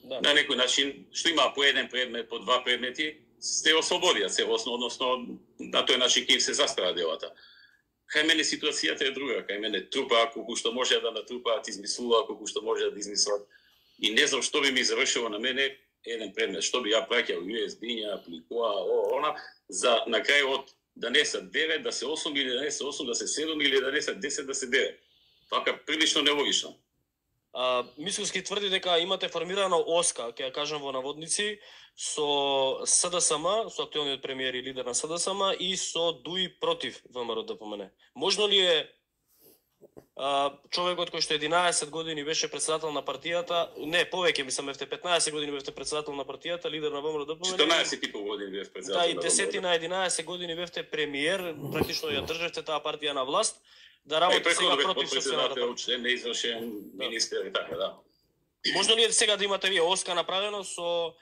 На некој начин, што има по еден предмет, по два предмети, се ослободија целосно, односно на тој начин ќе се застава делата. Кај мене ситуацијата е друга, кај мене трупа колку што може да натрупаат, измислуваат колку што може да измислат. И не знам што би ми завршило на мене еден предмет, што би ја праќал USB-ња, апликоа, она, за на крај од да не се 9, да се 8 или да не се 8, да се 7 или да не се 10, да се 9. Така прилично нелогично. Мицкоски тврди дека имате формирана ОСКА, ќе ја кажам во наводници, со СДСМ, со актуелниот премиер и лидер на СДСМ и со ДУИ против ВМРО-ДПМН. Можно ли е човекот кој што 11 години беше председател на партијата, не, повеќе мислам бевте 15 години бевте председател на партијата, лидер на ВМРО-ДПМН. 14,5 години бев председател. Да, и 10 на 11 години бевте премиер, практично ја држевте таа партија на власт. Да работи сега против собствената партија. Член неизвршен министер и така, да. Можно ли сега да имате вие ОСКА направено со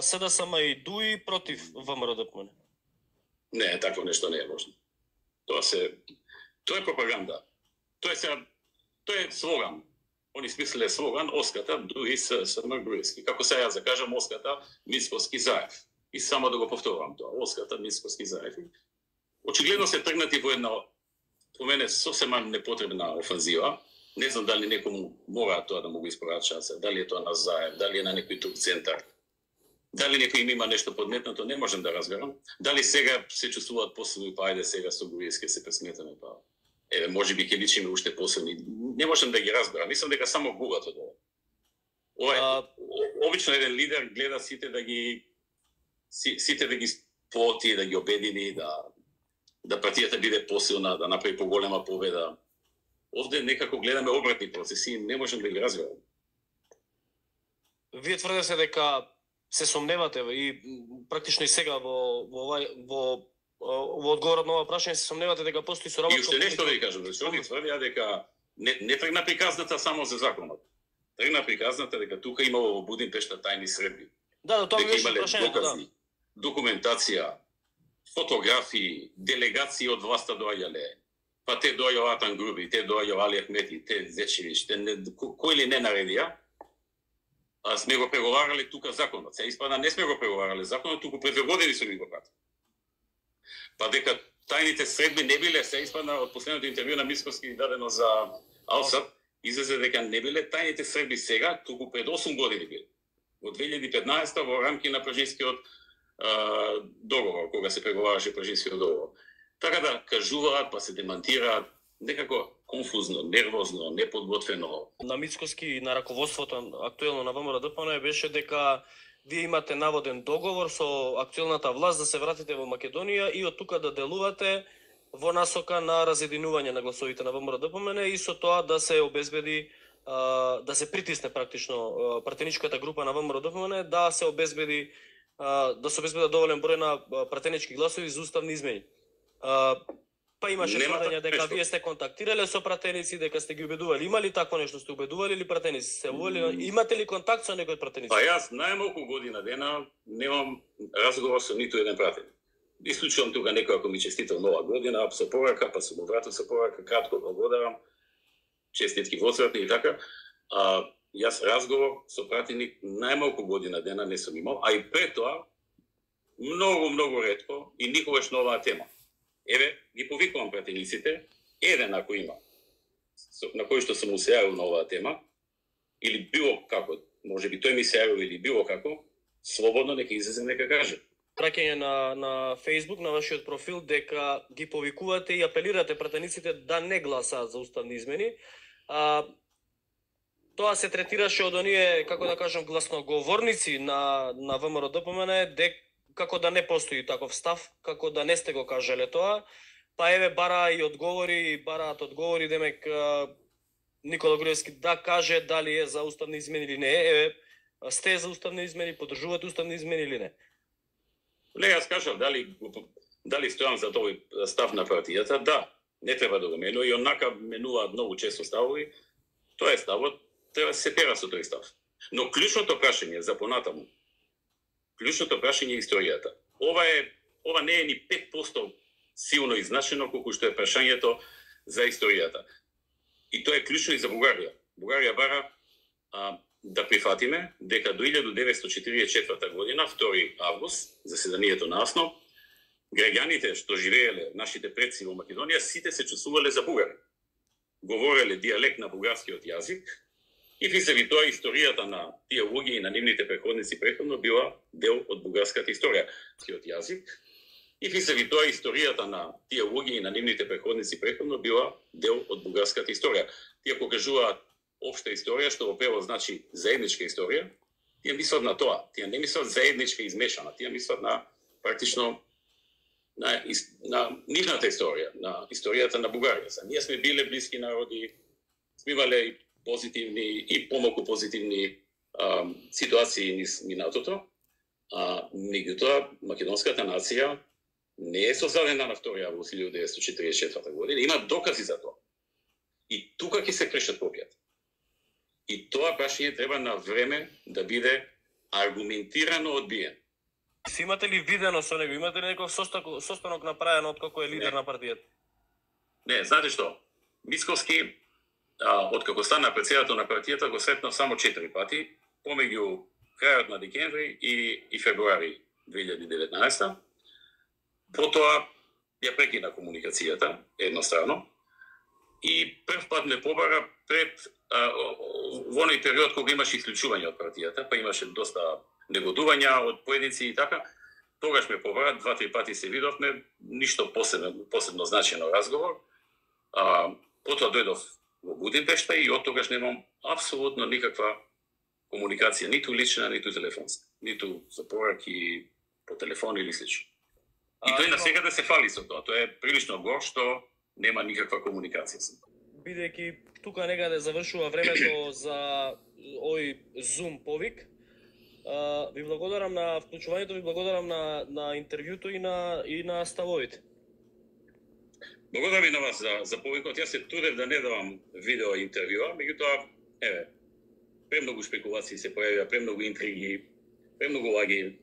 СДСМ и ДУИ против ВМРО-ДПМН? Не, такво нешто не е можно. Тоа е пропаганда. Тоа е слоган. Они смислиле слоган ОСКА-та ДУИ СДСМ Груевски. Како сега јас да кажам ОСКА-та Мицкоски Заев. И само да го повторам тоа. ОСКА-та Мицкоски Заев. Очигледно се тргнати во една по мене сосема непотребна офанзива. Не знам дали некому мора тоа да му го испорача, дали е тоа на Заев, дали е на некој друг центар. Дали некој им има нешто подметнато, не можам да разберам. Дали сега се чувствуваат посилни, па ајде сега со Груевски се пресметаме, па еве можеби ќе личиме уште посилни. Не можам да ги разберам. Мислам дека само гугато тоа. Ова обично еден лидер гледа сите да ги сплоти, да ги обедини, да партијата биде посилна, да направи поголема победа. Овде некако гледаме обратни процеси и не можем да ги разберам. Вие тврдите дека се сомневате и практично и сега во одговорот на ова прашање се сомневате дека постои соработка. И уште нешто да ви кажам, зашто ни тврдија дека не тргна приказната само за законот. Тргна приказната дека тука имало во Будимпешта тајни средби. Да, тоа беше прашањето, докази, документација, фотографии, делегации од власта доаѓале. Па те доаѓа Атан Груби, те доаѓа Али Ахмети, те Зечевич, кој ли не наредија, сме го преговарале тука законот. Се испада не сме го преговарале законот, туку пред 2 години сме го пратили. Па дека тајните средби не биле, се испада од последното интервју на Мицкоски дадено за Алсат, излезе дека не биле тајните средби сега, туку пред 8 години биле. Во 2015 во рамки на Пражинскиот договор, кога се преговараше Пражинскиот договор. Така да кажуваат, па се демантираат, некако конфузно, нервозно, неподготвено. На Мицкоски и на раководството актуелно на ВМРО-ДПМН беше дека вие имате наводен договор со актуелната власт да се вратите во Македонија и од тука да делувате во насока на разединување на гласовите на ВМРО-ДПМН и со тоа да се обезбеди да се притисне практично пратеничката група на ВМРО-ДПМН да се обезбеди доволен број на пратенички гласови за уставни измени. Па имаше тврдење дека вие сте контактирале со пратеници, дека сте ги убедували. Има ли такво нешто? Сте убедували или пратеници се уволили? Имате ли контакт со некој пратеници? Па јас најмалку година дена немам разговор со ниту еден пратеник. Исклучувам тука некој ако ми честител нова година, со порака, па сум вратил со порака, кратко благодарам, честитки воцратни и така. Јас разговор со пратеник најмалку година дена не сум имал, а и пред тоа многу ретко и никогаш на оваа тема. Еве, ги повикувам пратениците, еден ако има, на кој што сум му се јавил на оваа тема, или било како, може би тој ми се јавил или било како, слободно нека излезе, нека каже. Праќање на Facebook, на вашиот профил, дека ги повикувате и апелирате пратениците да не гласаат за уставни измени. Тоа се третираше од оние, како да кажам, гласноговорници на ВМРО-ДПМН, како да не постои таков став, како да не сте го кажале тоа, па еве бараат одговори, демек Никола Груевски да каже дали е за уставни измени или не. Еве, сте за уставни измени, поддржувате уставни измени или не? Не, јас кажав дали стојам за тој став на партијата, да, не треба да го менува и онака менуваат многу често ставови, тоа е ставот, треба да се тера со тој став. Но клучното прашање за понатаму, клучното прашање е историјата. Ова не е ни 5% силно изначено колку што е прашањето за историјата. И тоа е клучно и за Бугарија. Бугарија бара да прифатиме дека до 1944 година, 2 август, заседанието на АСНО, граѓаните што живееле, нашите предци во Македонија, сите се чувствувале за бугари. Говореле дијалект на бугарскиот јазик и визави тоа историјата на тие луѓе и на нивните преходници претходно била дел од бугарската историја. Јазик и визави тоа историјата на тие луѓе и на нивните преходници претходно била дел од бугарската историја. Тие покажуваат општа историја, што во превод значи заедничка историја. Тие мислат на тоа. Тие не мислат заедничка измешана. Тие мислат на практично на нивната историја, на историјата на Бугарија. Ние сме биле блиски народи, сме имале и позитивни и помалку позитивни ситуации низ минатото. Меѓутоа, македонската нација не е создадена на 2 август 1944 година. Има докази за тоа. И тука ќе се крешат копијата. И тоа прашање треба на време да биде аргументирано одбиен. Си имате ли видено со него? Имате ли некој состанок направен од како е лидер на партијата? Не, знаете што? Мицковски, откако стана председател на партијата, го сретнав само 4 пати, помеѓу крајот на декември и февруари 2019. Потоа ја прекина комуникацијата, еднострано, и прв пат ме побара пред во оној период кога имаше исклучување од партијата, па имаше доста негодувања од поединци и така. Тогаш ме побара, 2-3 пати се видовме, ништо посебно значено разговор. Потоа дојдов во Будимпешта и од тогаш немам апсолутно никаква комуникација, ниту лична, ниту телефонска, ниту за пораки по телефон или слично. И тој на сега да се фали со тоа. Тоа е прилично гор што нема никаква комуникација со тоа. Бидејќи тука некаде завршува времето за овој Zoom повик, ви благодарам на вклучувањето, ви благодарам на интервјуто и на ставовите. Благодарам и на вас за повикот. Јас се трудев да не давам видео интервјуа, меѓутоа, еве, премногу шпекулации се појавија, премногу интриги, премногу лаги,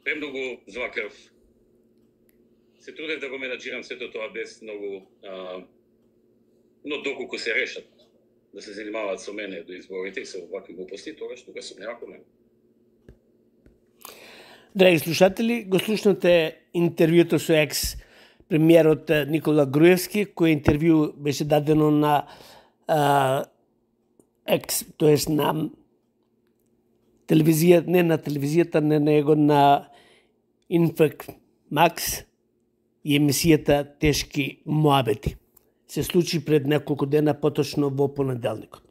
премногу злакрв. Се трудев да го менаџирам сето тоа без многу, но доколку се решат да се занимаваат со мене до изборите и со вакви глупости, тогаш тука сум нема проблем. Драги слушатели, го слушнате интервјуто со екс-премиерот Никола Груевски, кој интервју беше дадено на тоест на телевизија, не на телевизијата, не него на Инфак Макс и емисијата Тешки моабети. Се случи пред неколку дена, поточно во понеделникот.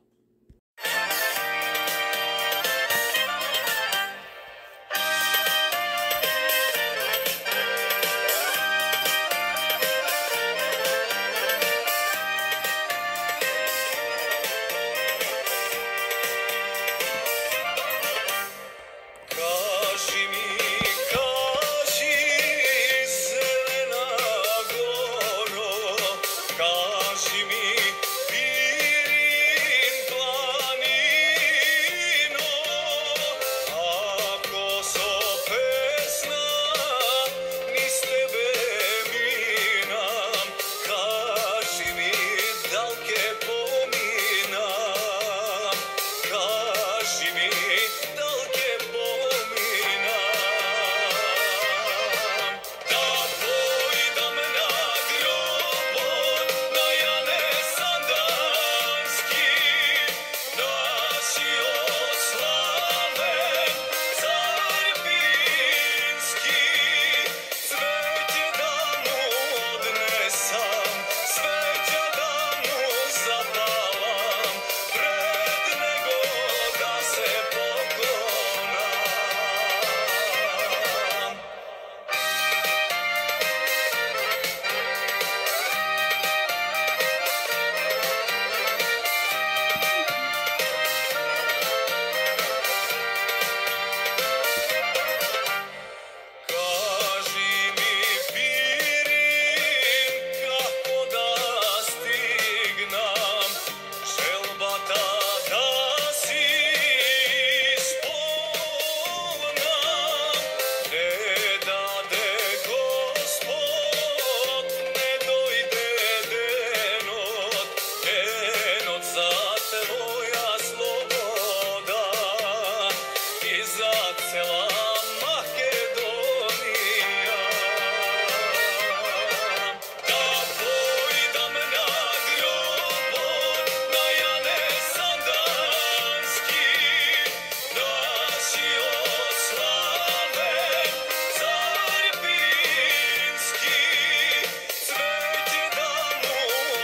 цела Македонија. Да поидам на гробот на Јане Сандански, нашиот славен цар Пирински. Цвеќе да му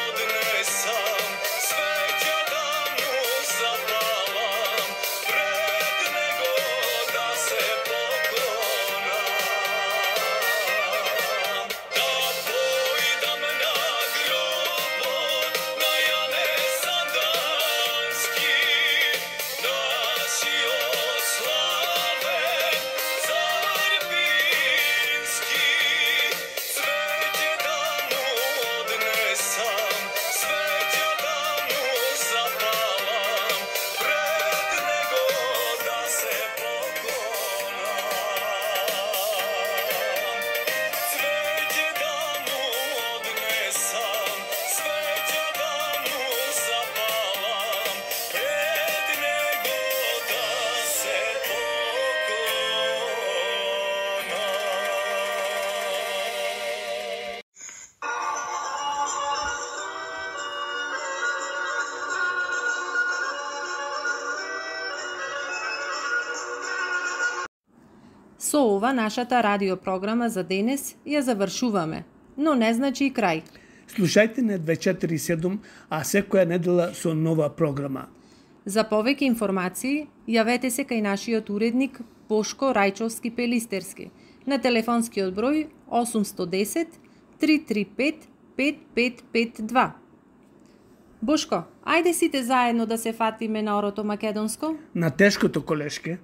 однесам, цвеќе да му запалам, пред него да се поклонам. Да поидам на гробот на Јане Сандански, нашиот славен цар Пирински. Цвеќе да му однесам, цвеќе да му запалам, пред него да се поклонам. Цвеќе да му однесам, цвеќе да му запалам, пред него да се поклонам. Со ова нашата радиопрограма за денес ја завршуваме, но не значи и крај. Слушајте на 247, а секоја недела со нова програма. За повеќе информации, јавете се кај нашиот уредник Бошко Рајчовски Пелистерски на телефонскиот број 810 335 5552. Бошко, ајде сите заедно да се фатиме на орото македонско? На тешкото колешке.